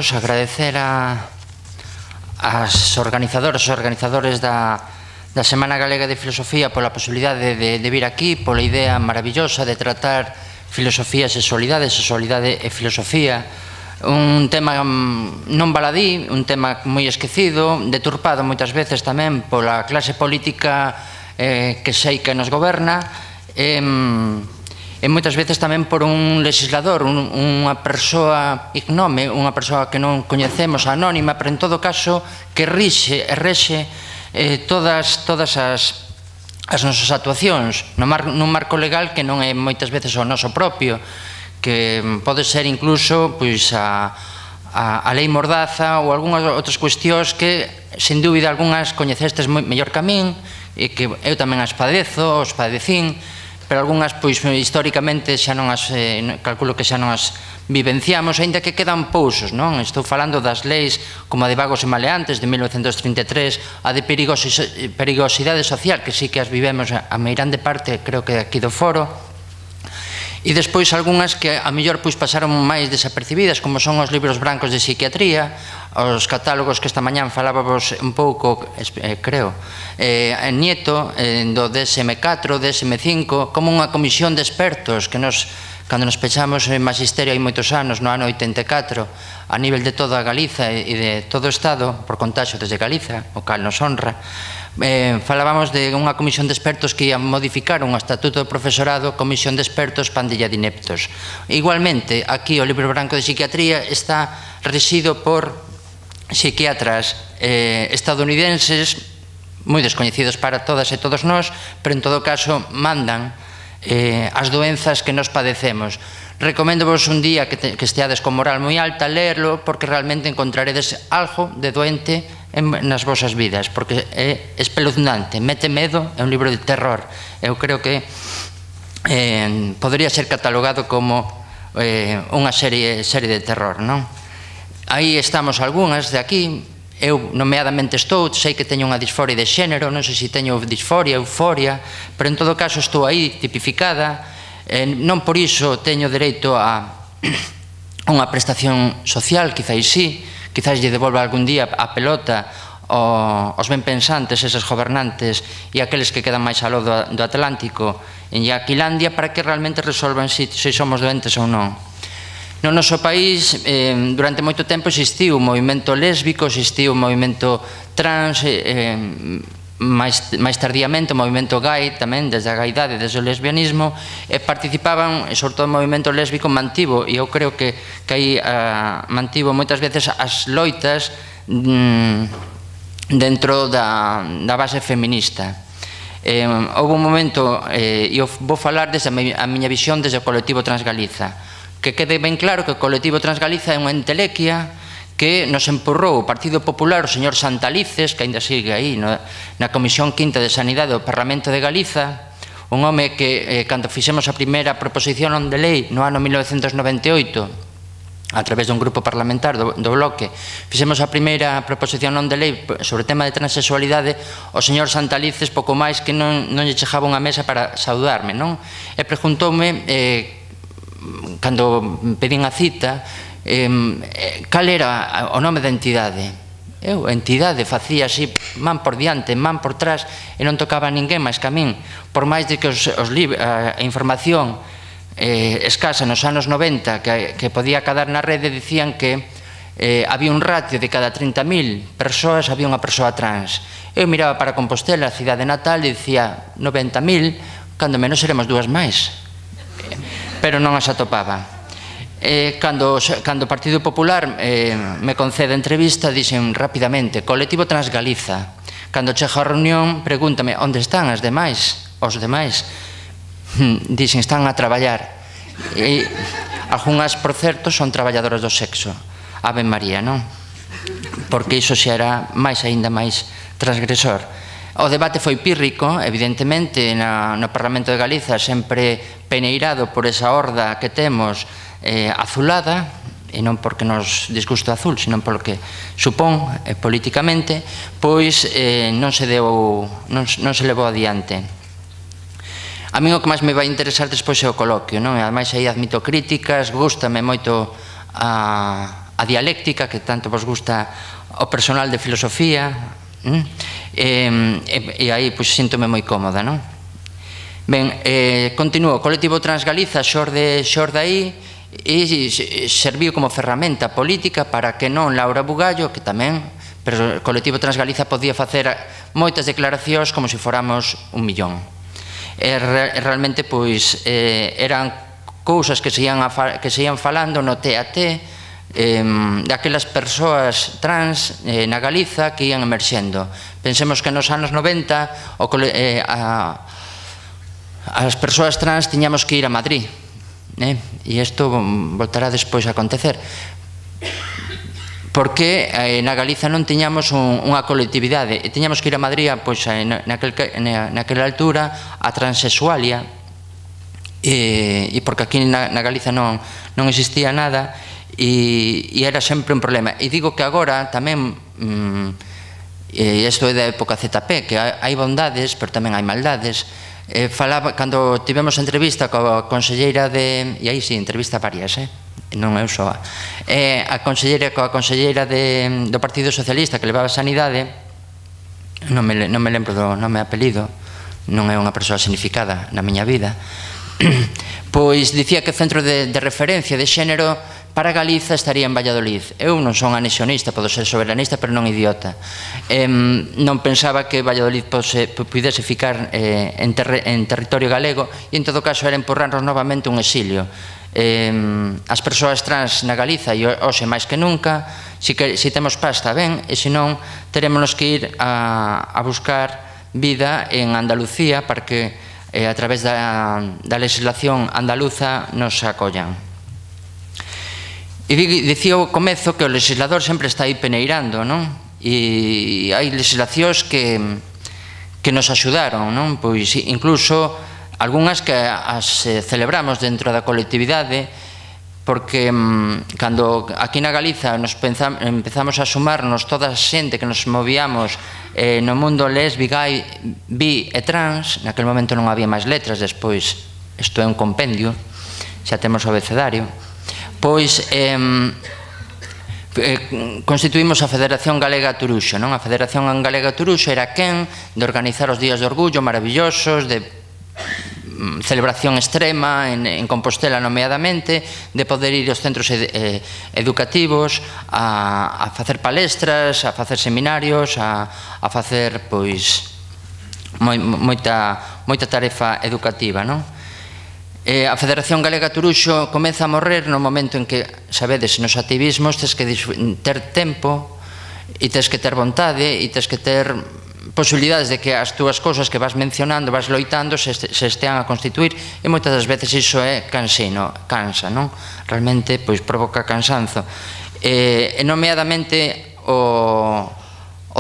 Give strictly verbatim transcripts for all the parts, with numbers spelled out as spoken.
todos, agradecer a as organizadoras e organizadores da, da Semana Galega de Filosofía pola posibilidade de, de vir aquí, pola idea maravillosa de tratar filosofía e sexualidade, sexualidade e filosofía, un tema non baladí, un tema moi esquecido, deturpado moitas veces tamén pola clase política eh, que sei que nos goberna, e, e moitas veces tamén por un legislador, un, unha persoa ignome, unha persoa que non coñecemos, anónima, pero en todo caso que rixe e rexe eh, todas, todas as, as nosas actuacións no mar, nun marco legal que non é moitas veces o noso propio, que pode ser incluso pois, a, a, a lei Mordaza ou algunhas outras cuestións que, sen dúbida, algunhas coñecestes mellor que a min e que eu tamén as padezo, os padecín, pero algunhas, pois, históricamente xa non as, eh, calculo que xa non as vivenciamos, aínda que quedan pousos, non? Estou falando das leis como a de Vagos e Maleantes de mil novecentos trinta e tres, a de perigosidade social, que sí que as vivemos a meirande parte, creo que aquí do foro, e despois algunhas que a mellor pois pasaron máis desapercibidas, como son os libros brancos de psiquiatría, os catálogos que esta mañán falábamos un pouco, eh, creo, eh, Nieto, eh, do D S M catro, D S M cinco, como unha comisión de expertos que nos, cando nos pechamos en Magisterio hai moitos anos, no ano oitenta e catro, a nivel de toda Galiza e de todo o Estado, por contaxo desde Galiza, o cal nos honra, Eh, falábamos de unha comisión de expertos que ia modificar un estatuto do profesorado, comisión de expertos pandilla de ineptos. Igualmente, aquí o libro branco de psiquiatría está rexido por psiquiatras eh, estadounidenses moi descoñecidos para todas e todos nós, pero en todo caso mandan eh, as doenzas que nos padecemos. Recomendovos un día que, te, que esteades con moral moi alta lerlo, porque realmente encontraredes algo de doente en, nas vosas vidas, porque é espeluznante, mete medo, é un libro de terror. Eu creo que eh, podría ser catalogado como eh, unha serie, serie de terror, non? Aí estamos algunhas de aquí. Eu nomeadamente estou, sei que teño unha disforia de xénero, non sei se teño disforia, euforia, pero en todo caso estou aí tipificada. Eh, non por iso teño dereito a unha prestación social, quizáis sí, quizáis lle devolva algún día a pelota aos ben pensantes, eses gobernantes e aqueles que quedan máis aló do, do Atlántico en Yaquilandia, para que realmente resolvan se si, si somos doentes ou non. No noso país, eh, durante moito tempo existiu un movimento lésbico, existiu un movimento trans, eh, máis, máis tardíamente o movimento gay tamén, desde a gaidade, desde o lesbianismo, e participaban, e sobre todo o movimento lésbico mantivo, e eu creo que, que aí uh, mantivo moitas veces as loitas mm, dentro da, da base feminista. Eh, houve un momento, eh, e eu vou falar desde a miña visión desde o colectivo Transgaliza, que quede ben claro que o colectivo Transgaliza é unha entelequia que nos empurrou o Partido Popular, o señor Santalices, que ainda sigue aí no, na Comisión Quinta de Sanidade do Parlamento de Galiza, un home que, eh, cando fixemos a primeira proposición de lei no ano mil novecentos noventa e oito, a través dun grupo parlamentar do, do Bloque, fixemos a primeira proposición non de lei sobre o tema de transexualidade, o señor Santalices pouco máis que non, non lle chegaba unha mesa para saudarme, non? E preguntoume, eh, cando pedín a cita, eh, cal era o nome da entidade. Eu, a entidade, facía así, man por diante, man por trás, e non tocaba a ninguén máis que a min, por máis de que os, os a, a información eh, escasa nos anos noventa que, que podía cadar na rede, dicían que eh, había un ratio de cada trinta mil persoas había unha persoa trans. Eu miraba para Compostela, a cidade natal, e dicía noventa mil, cando menos seremos dúas máis, pero non as atopaba. Eh, cando, cando o Partido Popular eh, me concede entrevista, dixen rapidamente, colectivo Transgaliza. Cando chego a reunión, pregúntame, onde están as demais? Os demais? Dixen, están a traballar. E algunhas, por certo, son traballadoras do sexo. Ave María, non? Porque iso xa era máis aínda máis transgresor. O debate foi pírrico, evidentemente, no, no Parlamento de Galiza, sempre peneirado por esa horda que temos eh, azulada, e non porque nos disgusto azul, sino porque supón eh, políticamente, pois eh, non se deu, non, non se levou adiante. A mí o que máis me vai interesar despois é o coloquio, non? Ademais aí admito críticas, gústame moito a a dialéctica, que tanto vos gusta o personal de filosofía, e aí síntome moi cómoda, non? Ben, continuo, o colectivo Transgaliza xorde aí e serviu como ferramenta política para que non Laura Bugallo, que tamén, pero o colectivo Transgaliza podía facer moitas declaracións como se fóramos un millón. E realmente, pois, eran cousas que se ian falando no T A T daquelas persoas trans na Galiza que ian emerxendo. Pensemos que nos anos noventa as persoas trans tiñamos que ir a Madrid, e isto voltará despois a acontecer, porque na Galiza non tiñamos unha colectividade e tiñamos que ir a Madrid naquela altura a transexualia, e porque aquí na Galiza non existía nada e era sempre un problema. E digo que agora tamén, e isto é da época Z P, que hai bondades pero tamén hai maldades. Cando tivemos entrevista coa conselleira de, e aí si, entrevista varias, non eu só, a conselleira coa conselleira do Partido Socialista que levaba a Sanidade, non me lembro do nome e apelido, non é unha persoa significada na miña vida, pois dicía que o centro de referencia de xénero para Galiza estaría en Valladolid. Eu non son anexionista, podo ser soberanista, pero non idiota. Non pensaba que Valladolid pudese ficar en territorio galego e, en todo caso, era empurrarnos novamente un exilio. As persoas trans na Galiza, e hoxe máis que nunca, se temos pasta ben, e se non, terémonos que ir a buscar vida en Andalucía para que, a través da legislación andaluza, nos acollan. E dicía ao comezo que o legislador sempre está aí peneirando, non? E hai legislacións que nos axudaron, non? Pois incluso algunhas que as celebramos dentro da colectividade, porque cando aquí na Galiza empezamos a sumarnos toda a xente que nos movíamos no mundo lesbi, gay, bi e trans, naquele momento non había máis letras, despois isto é un compendio, xa temos o abecedario, pois constituímos a Federación Galega Turuxo. A Federación Galega Turuxo era quen de organizar os días de orgullo maravillosos, de celebración extrema en Compostela nomeadamente, de poder ir aos centros educativos a facer palestras, a facer seminarios, a facer moita tarefa educativa, non? A Federación Galega Turuxo comeza a morrer no momento en que, sabedes, nos activismos tes que ter tempo e tes que ter vontade e tes que ter posibilidades de que as túas cousas que vas mencionando, vas loitando, se estean a constituir, e moitas das veces iso é cansino, cansa, non? Realmente, pois, provoca cansanzo. E nomeadamente o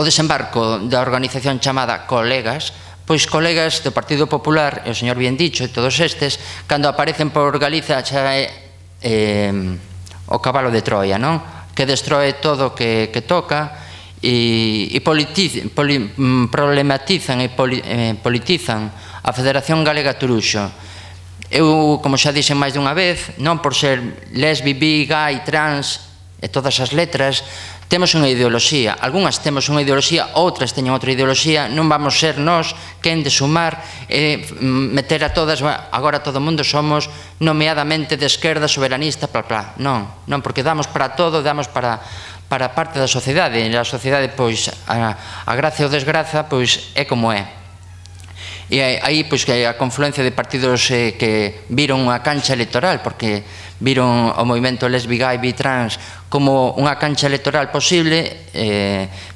desembarco da organización chamada Colegas, pois colegas do Partido Popular, e o señor bien dicho, e todos estes, cando aparecen por Galiza xa é o cabalo de Troia, non? Que destroe todo o que toca e problematizan e politizan a Federación Galega Turuxo. Eu, como xa dixen máis dunha vez, non por ser lesbi, bi, gay, trans e todas as letras, temos unha ideoloxía. Algúnas temos unha ideoloxía, outras teñen outra ideoloxía, non vamos ser nós quen de sumar e meter a todas, agora todo o mundo somos nomeadamente de esquerda, soberanista, bla, bla. Non, non, porque damos para todo, damos para para parte da sociedade, e a sociedade, pois, a gracia ou desgraza, pois, é como é. E aí, pois, que a confluencia de partidos que viron unha cancha electoral, porque viron o movimento lesbi, gay, bi, trans como unha cancha electoral posible,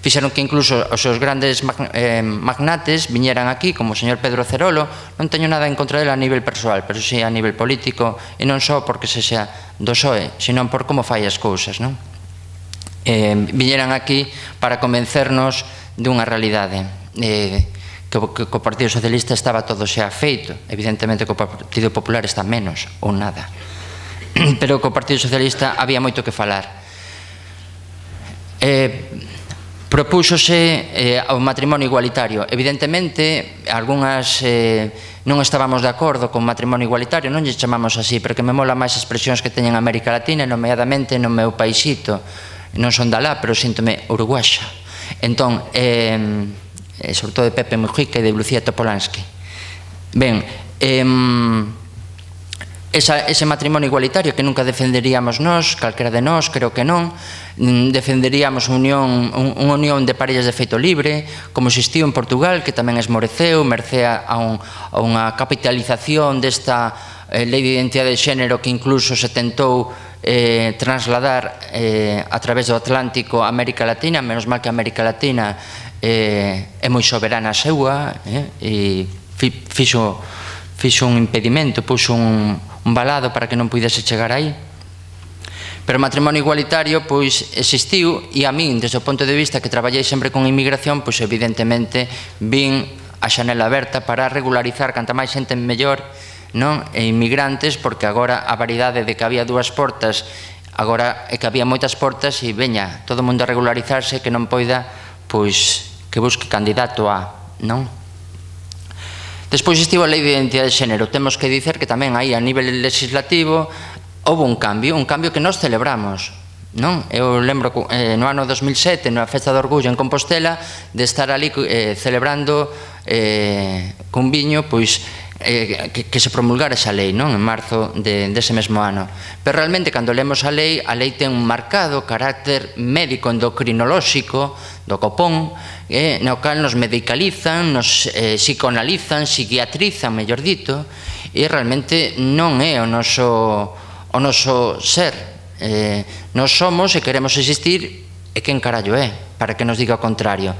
fixeron que incluso os seus grandes magnates viñeran aquí, como o señor Pedro Cerolo. Non teño nada en contra dele a nivel persoal, pero si a nivel político, e non só porque se xa do P S O E, senón por como fai as cousas, non? Viñeran aquí para convencernos dunha realidade, que o Partido Socialista estaba todo xa feito, evidentemente que o Partido Popular está menos ou nada, pero que o Partido Socialista había moito que falar. propúxose eh, o matrimonio igualitario. Evidentemente, algunhas eh, non estábamos de acordo con o matrimonio igualitario, non lle chamamos así, porque me mola máis expresións que teñen América Latina, nomeadamente no meu paisito. Non son da lá, pero síntome uruguaxa. Entón, eh, sobre todo de Pepe Mujica e de Lucía Topolansky. Ben, eh, Esa, ese matrimonio igualitario que nunca defenderíamos nós, calquera de nós, creo que non, defenderíamos unión, un, unha unión de parellas de feito libre, como existiu en Portugal, que tamén esmoreceu, mercea a, un, a unha capitalización desta eh, lei de identidade de xénero que incluso se tentou eh, trasladar eh, a través do Atlántico a América Latina, menos mal que a América Latina eh, é moi soberana a seua, eh, e fi, fixo, fixo un impedimento, puxo un un balado para que non pudese chegar aí. Pero o matrimonio igualitario pois existiu e a min, desde o punto de vista que traballei sempre con inmigración, pois evidentemente vin a xanela aberta para regularizar canta máis xente mellor, non? E inmigrantes, porque agora a variedade de que había dúas portas, agora é que había moitas portas e veña, todo o mundo a regularizarse, que non poida, pois, que busque candidato a, non? Despois estivo a lei de identidade de xénero. Temos que dicer que tamén aí a nivel legislativo houve un cambio, un cambio que nós celebramos, non? Eu lembro eh, no ano dos mil sete, na Festa do Orgullo en Compostela, de estar ali eh, celebrando eh, cun viño, pois, eh, que, que se promulgara esa lei, non? En marzo de, dese mesmo ano. Pero realmente, cando lemos a lei, a lei ten un marcado carácter médico endocrinolóxico do copón, eh, no cal nos medicalizan, nos eh, psicoanalizan, psiquiatrizan, mellor dito, e realmente non é o noso, o noso ser. Eh, nos somos e queremos existir, e quen carallo é, para que nos diga o contrario.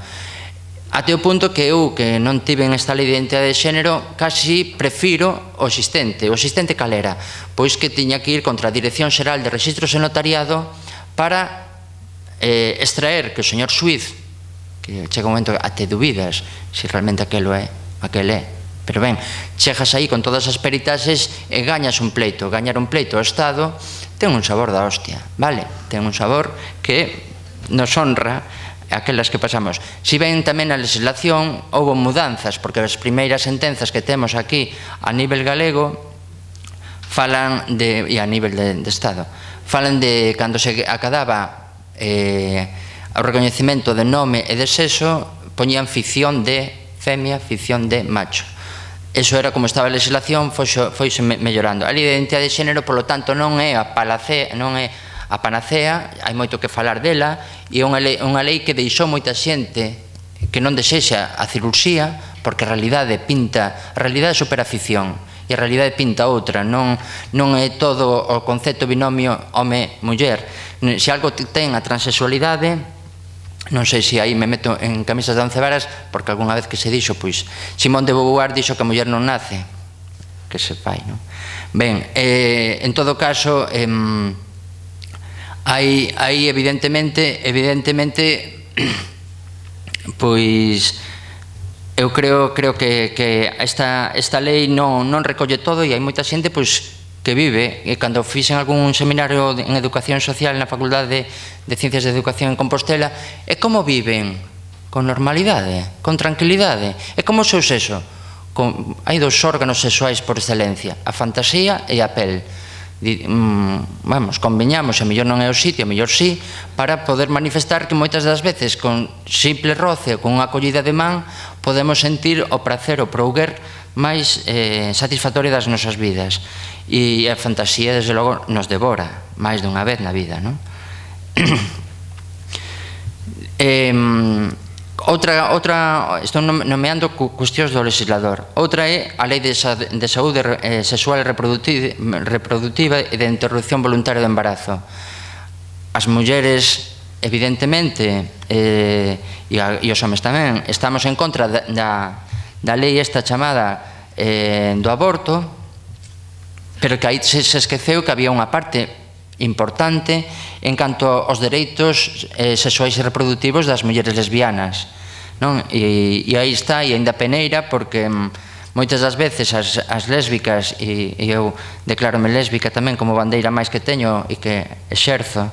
Até o punto que eu, que non tiven esta lei de identidade de xénero, casi prefiro o existente. O existente cal era? Pois que tiña que ir contra a Dirección Xeral de Registros e Notariado para eh, extraer que o señor Suiz, que chega un momento a te dubidas se realmente aquelo é, aquel é, pero ben, chegas aí con todas as peritaxes e gañas un pleito. Gañar un pleito ao Estado ten un sabor da hostia, vale? Ten un sabor que nos honra aquelas que pasamos. Si ben tamén na legislación houve mudanzas, porque as primeiras sentenzas que temos aquí a nivel galego falan de, e a nivel de, de Estado, falan de cando se acadaba eh, o recoñecemento de nome e de sexo, poñían ficción de femia, ficción de macho. Eso era como estaba a legislación, foise mellorando. A lei de identidade de xénero, polo tanto, non é a palacea, non é a panacea, hai moito que falar dela, e é unha lei, unha lei que deixou moita xente que non desexa a cirurxía, porque a realidade pinta, a realidade supera a ficción, e a realidade pinta outra, non, non é todo o concepto binomio home-muller. Se algo ten a transexualidade, non sei se aí me meto en camisas de once varas, porque algunha vez que se dixo, pois, Simón de Beauvoir dixo que a muller non nace, que se fai, non? Ben, eh, en todo caso, eh, Aí, aí evidentemente, evidentemente, pois, eu creo, creo que, que esta, esta lei non, non recolle todo e hai moita xente, pois, que vive, e cando fixen algún seminario en Educación Social na Facultade de, de Ciencias de Educación en Compostela, é como viven? Con normalidade, con tranquilidade. É como o seu sexo. Con, hai dos órganos sexuais por excelencia, a fantasía e a pel. Vamos, conveñamos, a mellor non é o sitio, a mellor sí, para poder manifestar que moitas das veces con simple roce ou con unha acollida de man podemos sentir o prazer, o prouguer máis eh, satisfactorio das nosas vidas, e a fantasía desde logo nos devora máis dunha vez na vida, non? eh, Outra, outra, estou nomeando cuestións do legislador. Outra é a Lei de, de Saúde eh, Sexual e Reproductiva e de Interrupción Voluntaria do Embarazo. As mulleres, evidentemente, eh, e, a, e os homes tamén, estamos en contra da, da, da lei esta chamada eh, do aborto, pero que aí se, se esqueceu que había unha parte importante en canto aos dereitos eh, sexuais e reproductivos das mulleres lesbianas, non? E, e aí está, e ainda peneira, porque mm, moitas das veces as, as lésbicas, e, e eu declárome lésbica tamén como bandeira máis que teño e que exerzo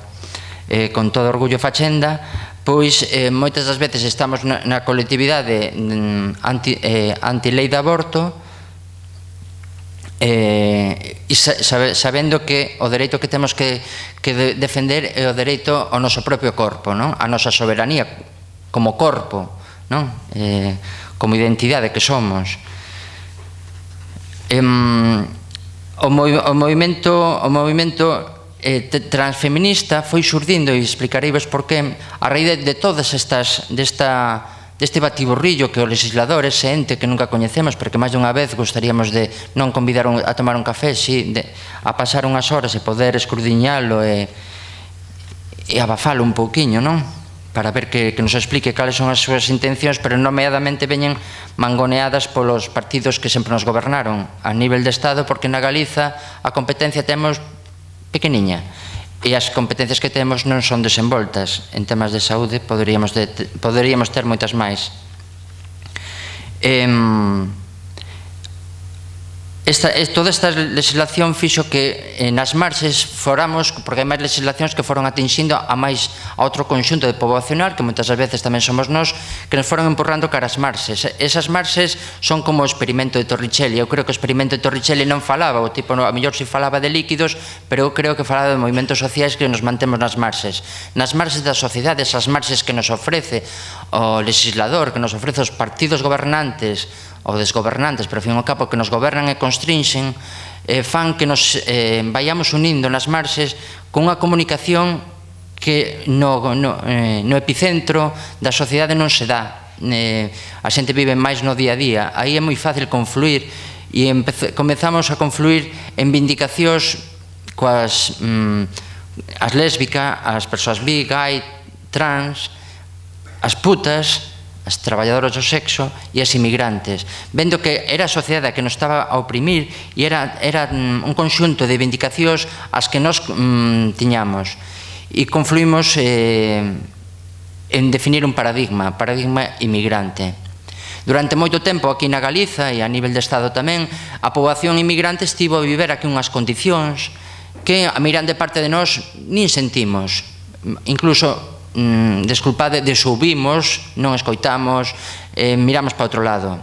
eh, con todo orgullo fachenda, pois eh, moitas das veces estamos na, na colectividade anti, eh, anti-lei de aborto, eh, e sabe, sabendo que o dereito que temos que, que de, defender é o dereito ao noso propio corpo, non? A nosa soberanía como corpo, non? Eh, como identidade que somos. Eh, o, mov, o movimento, o movimento Eh, transfeminista foi xurdindo, e explicareivos por qué, a raíz de, de todas estas desta, deste batiburrillo que o legislador, ese ente que nunca coñecemos, porque máis dunha vez gostaríamos de non convidar un, a tomar un café, si, de, a pasar unhas horas e poder escrudiñalo e, e abafalo un pouquiño, non? Para ver que, que nos explique cales son as súas intencións, pero nomeadamente veñen mangoneadas polos partidos que sempre nos gobernaron a nivel de Estado, porque na Galiza a competencia temos pequeniña e as competencias que temos non son desenvoltas. En temas de saúde poderíamos, de, poderíamos ter moitas máis. Eh, esta, toda esta legislación fixo que eh, nas marxes foramos, porque hai máis legislacións que foron atinxindo a máis a outro conxunto de poboacional, que moitas veces tamén somos nós, que nos foron empurrando cara as marxes. Esas marxes son como o experimento de Torricelli. Eu creo que o experimento de Torricelli non falaba, o tipo, a mellor si falaba de líquidos, pero eu creo que falaba de movimentos sociais que nos mantemos nas marxes. Nas marxes da sociedade, esas marxes que nos ofrece o legislador, que nos ofrece os partidos gobernantes ou desgobernantes, pero ao fin e ao cabo que nos gobernan e constrinxen, eh, fan que nos eh, vayamos unindo nas marxes con unha comunicación que no, no, eh, no epicentro da sociedade non se dá. Eh, a xente vive máis no día a día, aí é moi fácil confluir, e comezamos a confluir en vindicacións coas mm, as lésbicas, as persoas bi, gay, trans, as putas, as traballadoras do sexo e as inmigrantes, vendo que era a sociedade que nos estaba a oprimir e era, era un conxunto de vindicacións as que nos mm, tiñamos, e confluímos eh, en definir un paradigma, paradigma inmigrante. Durante moito tempo aquí na Galiza e a nivel de Estado tamén, a poboación inmigrante estivo a viver aquí unhas condicións que a miran de parte de nós nin sentimos, incluso Mm, desculpade, desouvimos, non escoitamos, eh, miramos para outro lado.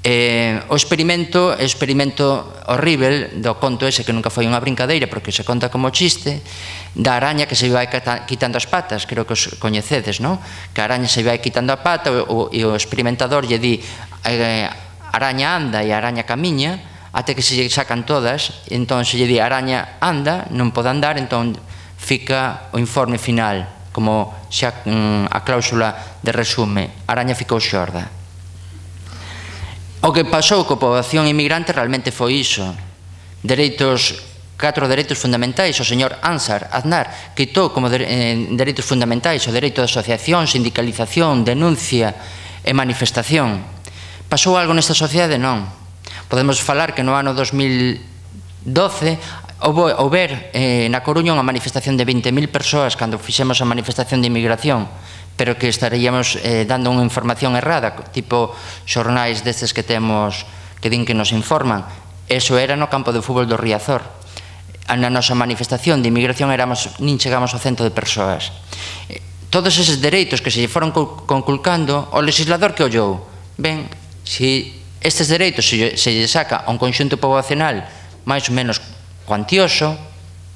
Eh, o experimento, o experimento horrível do conto ese que nunca foi unha brincadeira porque se conta como chiste, da araña que se vai quitando as patas, creo que os coñecedes, non? Que a araña se vai quitando a pata e o experimentador lle di eh, araña anda e a araña camiña, até que se lle sacan todas, e entón se lle di araña anda, non pode andar, entón fica o informe final, como xa a cláusula de resume, a araña ficou xorda. O que pasou coa poboación inmigrante realmente foi iso. Dereitos, catro dereitos fundamentais, o señor Ansar Aznar quitou como dereitos fundamentais o dereito de asociación, sindicalización, denuncia e manifestación. Pasou algo nesta sociedade? Non. Podemos falar que no ano dos mil doce houber eh, na Coruña unha manifestación de vinte mil persoas cando fixemos a manifestación de inmigración, pero que estaríamos eh, dando unha información errada, tipo xornais destes que temos que din que nos informan. Eso era no campo de fútbol do Riazor. Na nosa manifestación de inmigración éramos, nin chegamos ao cento de persoas. Todos eses dereitos que se lle foron conculcando, o legislador que ollou, ben, se estes dereitos se lle saca a un conxunto poboacional máis ou menos cuantioso,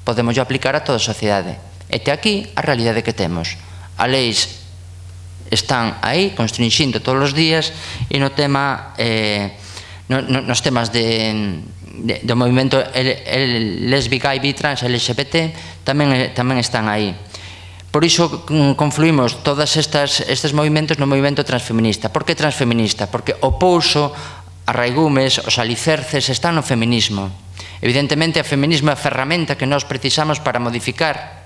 podemos aplicar a toda a sociedade. E te aquí a realidade que temos. As leis están aí, constringindo todos os días, e no tema, eh, no, no, nos temas de, de, do movimento lésbica, gay, bi, trans, L G B T, tamén, tamén están aí. Por iso confluímos todos estes movimentos no movimento transfeminista. Por que transfeminista? Porque o pouso, as raigumes, os alicerces están no feminismo. Evidentemente, o feminismo é a ferramenta que nós precisamos para modificar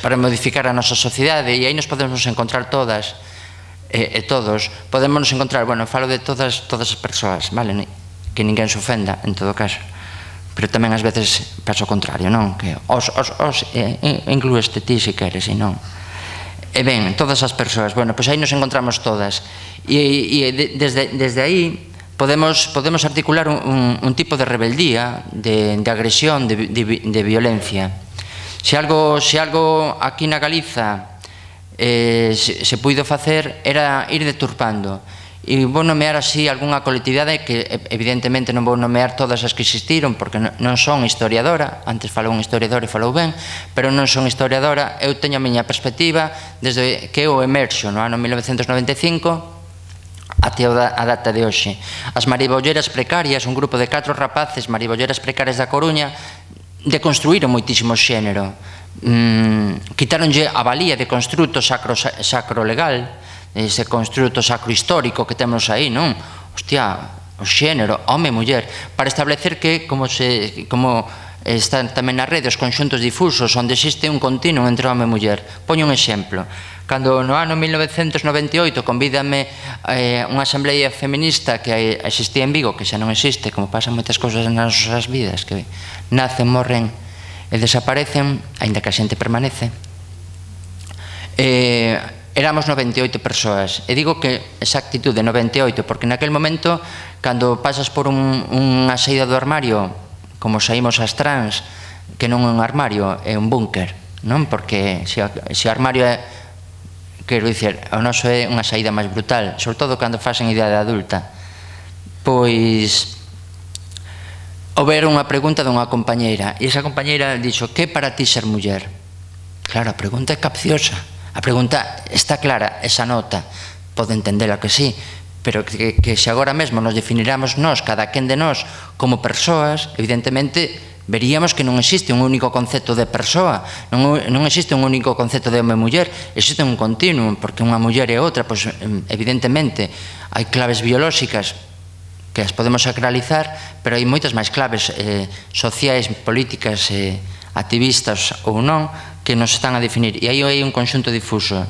para modificar a nosa sociedade, e aí nos podemos encontrar todas e, e todos. Podemos encontrar, bueno, falo de todas todas as persoas, vale? Que ninguén se ofenda, en todo caso. Pero tamén ás veces pasa o contrario, non? Que os, os, os, eh, inclueste ti se queres, e non. E ben, todas as persoas, bueno, pois aí nos encontramos todas. E, e desde, desde aí Podemos, podemos articular un, un, un tipo de rebeldía, de, de agresión, de, de, de violencia. Se algo, se algo aquí na Galiza se puido facer era ir deturpando. E vou nomear así algunha colectividade que evidentemente non vou nomear todas as que existiron porque non son historiadora, antes falou un historiador e falou ben, pero non son historiadora, eu teño a miña perspectiva desde que eu emerxo no ano mil novecentos noventa e cinco até a data de hoxe. As maribolleras precarias, un grupo de catro rapaces maribolleras precarias da Coruña, deconstruíron moitísimo xénero, quitaronlle a valía de construto sacro legal, ese construto sacro histórico que temos aí, non? Hostia, o xénero, home e muller, para establecer que, como están tamén na rede, os conxuntos difusos onde existe un continuo entre home e muller. Poño un exemplo. Cando no ano mil novecentos noventa e oito convídame unha asamblea feminista que existía en Vigo, que xa non existe, como pasan moitas cousas nas nosas vidas, que nacen, morren e desaparecen, aínda que a xente permanece, éramos noventa e oito persoas. E digo que esa actitud de noventa e oito porque naquel momento, cando pasas por unha saída do armario, como saímos as trans, que non é un armario, é un búnker, non? Porque se o armario é, quero dicir, o noso é unha saída máis brutal, sobre todo cando faz en idade adulta. Pois houber unha pregunta dunha compañeira e esa compañeira dixo: que para ti ser muller? Claro, a pregunta é capciosa, a pregunta está clara, esa nota pode entendela que sí, pero que se agora mesmo nos definiramos nós, cada quen de nós, como persoas, evidentemente veríamos que non existe un único concepto de persoa, non existe un único concepto de home e muller, existe un continuum, porque unha muller e outra, pois evidentemente hai claves biolóxicas que as podemos sacralizar, pero hai moitas máis claves sociais, políticas, activistas ou non, que nos están a definir, e aí hai un conxunto difuso.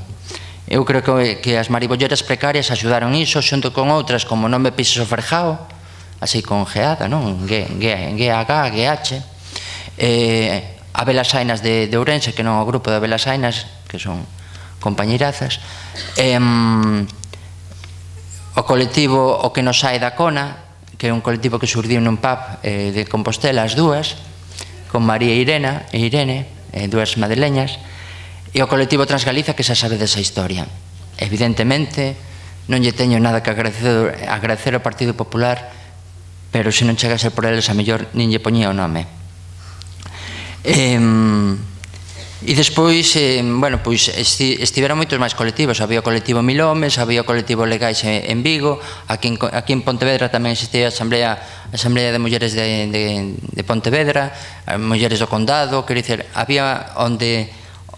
Eu creo que as maribolleras precarias axudaron iso, xunto con outras como Non me pises o ferjao, así con geada, non? G H, G H, a Belasainas de Ourense, que non é o grupo de Belasainas, que son compañeirazas, o colectivo O que nos sae da Cona, que é un colectivo que surdiu nun pub de Compostela, as dúas, con María e Irene, dúas madrileñas, e o colectivo Transgaliza, que xa sabe desa historia. Evidentemente, non lle teño nada que agradecer ao Partido Popular, pero se non chegase por eles, a mellor nin lle poñía o nome. E despois, bueno, pois estiveron moitos máis colectivos. Había o colectivo Mil Homes, había o colectivo Legais en Vigo, aquí en Pontevedra tamén existía a Asamblea de Mulleres de Pontevedra, Mulleres do Condado, quero dicir, había onde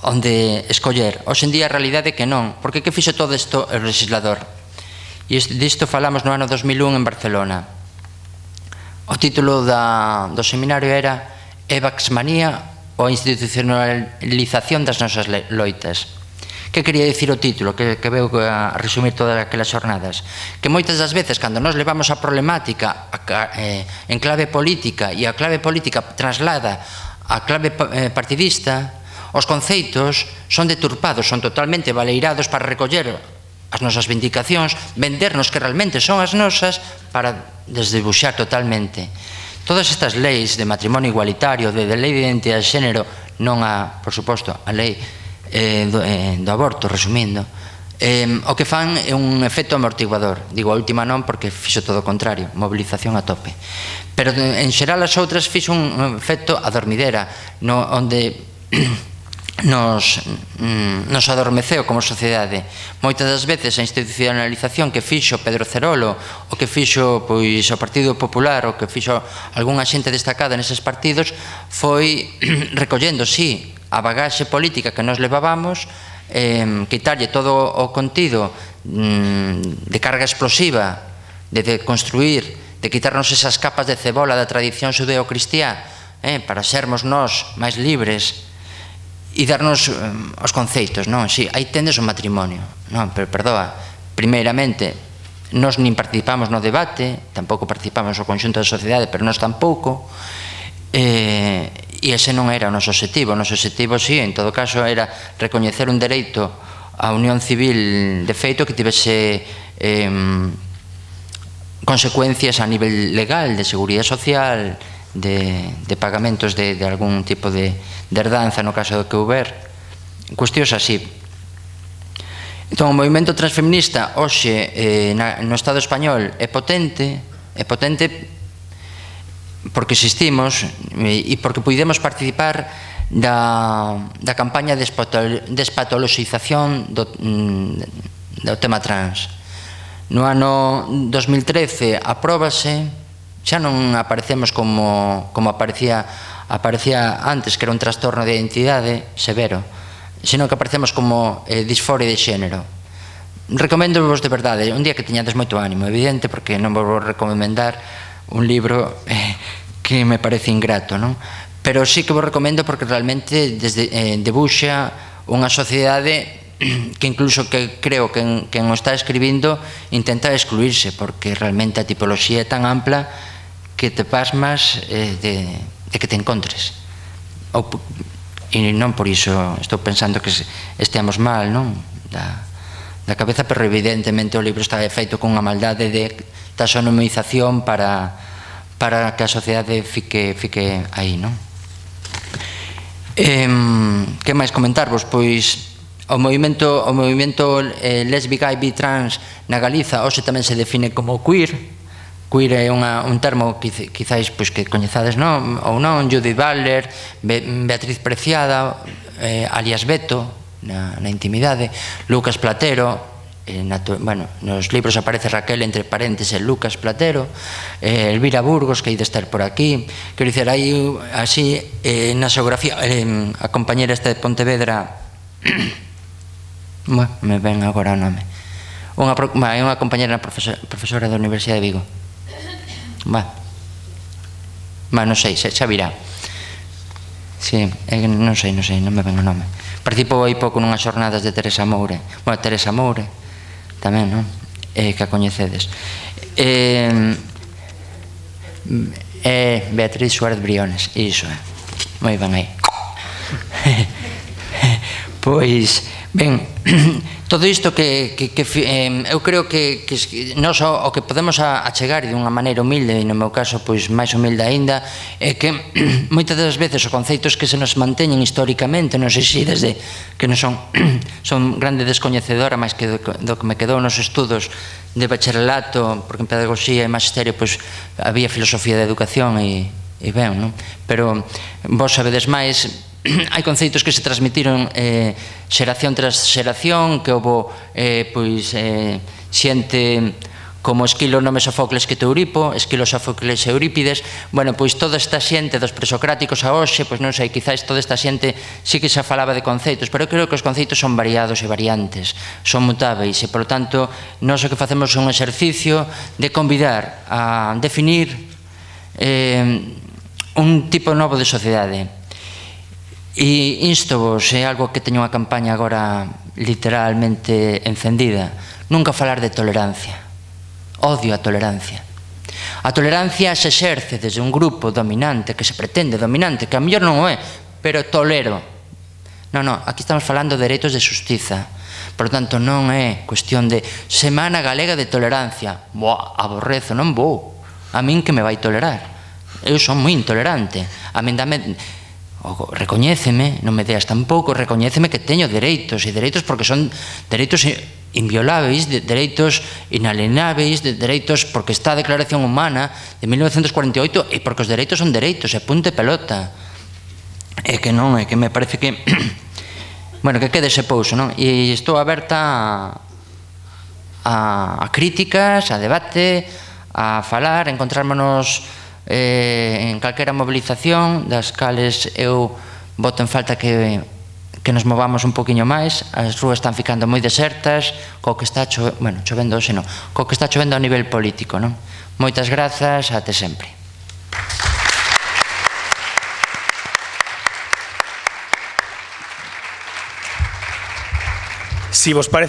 onde escoller. Hoxe en día a realidade é que non, porque que fixo todo isto o legislador? E disto falamos no ano dos mil un en Barcelona. O título do seminario era Evaxmanía ou a institucionalización das nosas loitas. Que quería dicir o título, que veu a resumir todas aquelas xornadas? Que moitas das veces, cando nos levamos a problemática en clave política e a clave política traslada a clave partidista, os conceitos son deturpados, son totalmente baleirados para recoller as nosas vindicacións, vendernos que realmente son as nosas para desdebuxar totalmente. Todas estas leis de matrimonio igualitario, de lei de identidade de xénero, non a, por suposto, a lei do aborto, resumindo, o que fan é un efecto amortiguador. Digo a última non porque fixo todo o contrario, movilización a tope. Pero en xeral as outras fixo un efecto adormidera, onde nos adormeceu como sociedade. Moitas das veces a institucionalización que fixo Pedro Cerolo, o que fixo o Partido Popular, o que fixo algunha xente destacada neses partidos, foi recollendo, sí, a bagaxe política que nos levábamos, quitarlle todo o contido de carga explosiva, de construir, de quitarnos esas capas de cebola da tradición xudeo-cristiá para sermos nós máis libres e darnos os conceitos, non? Si, aí tendes o matrimonio, non? Pero, perdoa, primeiramente, nós nin participamos no debate, tampouco participamos no conxunto da sociedade, pero nós tampouco, e ese non era o noso objetivo. O noso objetivo, si, en todo caso, era recoñecer un dereito á unión civil de feito que tivese consecuencias a nivel legal, de seguridade social, de pagamentos de algún tipo de herdanza no caso do que houber, cuestións así. Entón, o movimento transfeminista hoxe no Estado español é potente, é potente porque existimos e porque pudemos participar da, da campaña de despatoloxización do, do tema trans. No ano dos mil trece apróbase, xa non aparecemos como, como aparecía, aparecía antes, que era un trastorno de identidade severo, senón que aparecemos como eh, disforia de xénero. Recomendo-vos de verdade, un día que teñades moito ánimo, evidente, porque non vos vou recomendar un libro eh, que me parece ingrato, non? Pero sí que vos recomendo porque realmente desde, eh, debuxa unha sociedade que incluso que creo que en, que en o está escribindo intenta excluirse, porque realmente a tipoloxía é tan ampla que te pasmas eh, de, de que te encontres. Ou, e non por iso estou pensando que esteamos mal, non? Da, da cabeza, pero evidentemente o libro está feito con unha maldade de taxonomización para, para que a sociedade fique, fique aí, non? Eh, que máis comentarvos? Pois o movimento, o movimento eh, lesbi, gay, bi, trans na Galiza hoxe tamén se define como queer. Queer é unha, un termo que quizáis pois, que coñezades non, ou non, Judith Butler, Be, Beatriz Preciada, eh, alias Beto, na, na intimidade, Lucas Platero, eh, na, bueno, nos libros aparece Raquel entre parénteses Lucas Platero, eh, Elvira Burgos, que hai de estar por aquí, quero dizer, hai así, eh, na xeografía, eh, a compañera esta de Pontevedra, bueno, me ven agora o nome, unha, é unha compañera profesora, profesora da Universidade de Vigo. Va, va, non sei, xa virá. Sí, non sei, non sei, non me ven o nome. Participou aí pouco nunhas xornadas de Teresa Moure. Bueno, Teresa Moure, tamén, non? Eh, que a coñecedes. Eh, eh, Beatriz Suárez Briones, iso é. Moi ben aí. Pois, ben, todo isto que, que, que eh, eu creo que, que nós o, o que podemos achegar dunha maneira humilde, e no meu caso pois máis humilde aínda, é que moitas das veces os conceitos que se nos manteñen históricamente, non sei se desde que non son son grande descoñecedora, máis que do, do que me quedou nos estudos de bacharelato, porque en pedagogía e magisterio pois había filosofía de educación e, e ben, non? Pero vos sabedes máis. Hai conceitos que se transmitiron eh, xeración tras xeración, que houve eh, pois, eh, xente como Esquilo, Nome, Sofocles que Teuripo, Esquilo, Sofocles e Eurípides. Bueno, pois toda esta xente dos presocráticos a hoxe, pois non sei, quizáis toda esta xente sí que xa falaba de conceitos, pero eu creo que os conceitos son variados e variantes, son mutáveis, e, polo tanto, nós o que facemos é un exercicio de convidar a definir eh, un tipo novo de sociedade. E instovos, é algo que teño unha campaña agora literalmente encendida, nunca falar de tolerancia. Odio a tolerancia. A tolerancia se exerce desde un grupo dominante, que se pretende dominante, que a mellor non o é, pero tolero. Non, non, aquí estamos falando de dereitos de xustiza. Por tanto, non é cuestión de Semana Galega de Tolerancia. Boa, aborrezo, non vou. A min que me vai tolerar. Eu son moi intolerante. A min dame... recoñéceme, non me deas tampouco, recoñéceme que teño dereitos, e dereitos porque son dereitos inviolables, dereitos inalienáveis, dereitos porque está a Declaración Humana de mil novecentos cuarenta e oito, e porque os dereitos son dereitos, e punto e pelota. É que non, é que me parece que bueno, que quede ese pouso, non? E estou aberta a, a críticas, a debate, a falar, a encontrármonos Eh, en calquera movilización das cales eu boto en falta que, que nos movamos un poquinho máis. As rúas están ficando moi desertas co que está chovendo, bueno, chovendo hoxe non, co que está chovendo a nivel político, non? Moitas grazas, até sempre. Si vos parece